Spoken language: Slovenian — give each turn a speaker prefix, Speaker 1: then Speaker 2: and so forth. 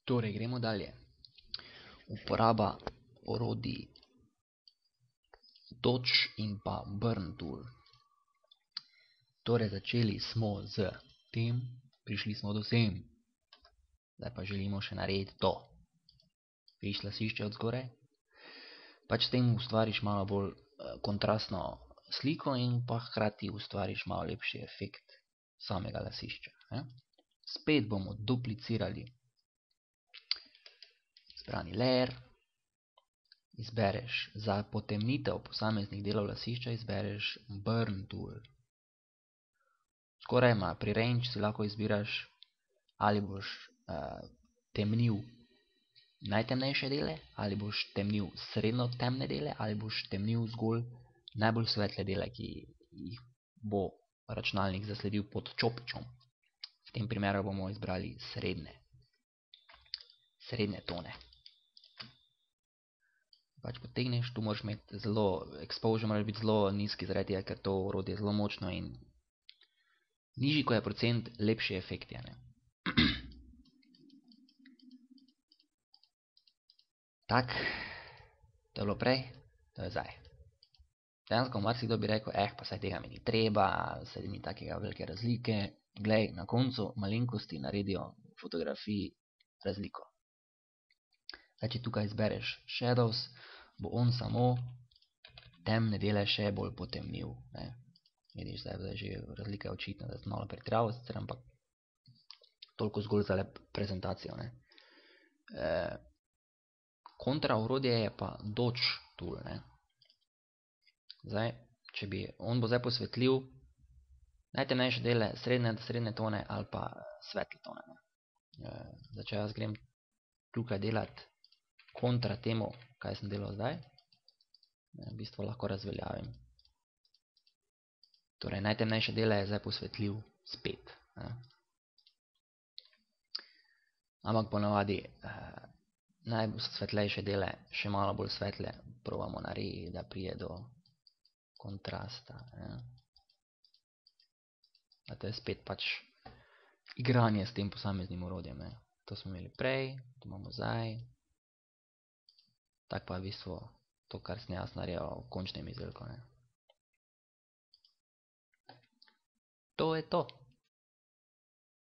Speaker 1: Torej, gremo dalje. Uporaba orodij Dodge in pa Burn Tool. Torej, začeli smo z tem, prišli smo do sem. Zdaj pa želimo še narediti to. Vidiš lasišče od zgoraj? Pač s tem ustvariš malo bolj kontrastno sliko in pa hkrati ustvariš malo lepši efekt samega lasišča. Spet bomo duplicirali izbrani layer, izbereš za potemnitev posameznih delov lasišča, izbereš Burn Tool. Skoraj pri range si lahko izbiraš, ali boš temnil najtemnejše dele, ali boš temnil srednjo temne dele, ali boš temnil zgolj najbolj svetle dele, ki jih bo računalnik zasledil pod čopičem. V tem primeru bomo izbrali srednje tone. Pač potegneš, tu moraš imeti exposure mora biti zelo nizki, zaradi tega, ker to orodje je zelo močno in nižji, ko je procent, lepši efekt je. Tak, to je bilo prej, to je zdaj. Dejansko marsikdo bi rekel, pa saj tega mi ni treba, saj ni takega velike razlike. Glej, na koncu malenkosti naredijo v fotografiji razliko. Zdaj, če tukaj izbereš shadows, bo on samo temne dele še bolj potemnil. Vidiš, zdaj že razlika je očitna, da sem malo pretiraval, ampak toliko zgolj za prezentacijo. Kontra orodje je pa Dodge Tool. Zdaj, če bi, on bo zdaj posvetlil najtemnejše dele, srednje tone ali pa svetle tone. Zdaj, če jaz grem tukaj delati kontra temu, kaj sem delal zdaj, v bistvu lahko razveljavim. Torej, najtemnejše dele je zdaj posvetlil spet. Ampak ponavadi najsvetlejše dele, še malo bolj svetle, probamo narediti, da prije do kontrasta. A to je spet pač igranje s tem posameznim orodjem. To smo imeli prej, to imamo zdaj. Tak pa je v bistvu to, kar sem jaz naredil v končnem izdelku. To je to.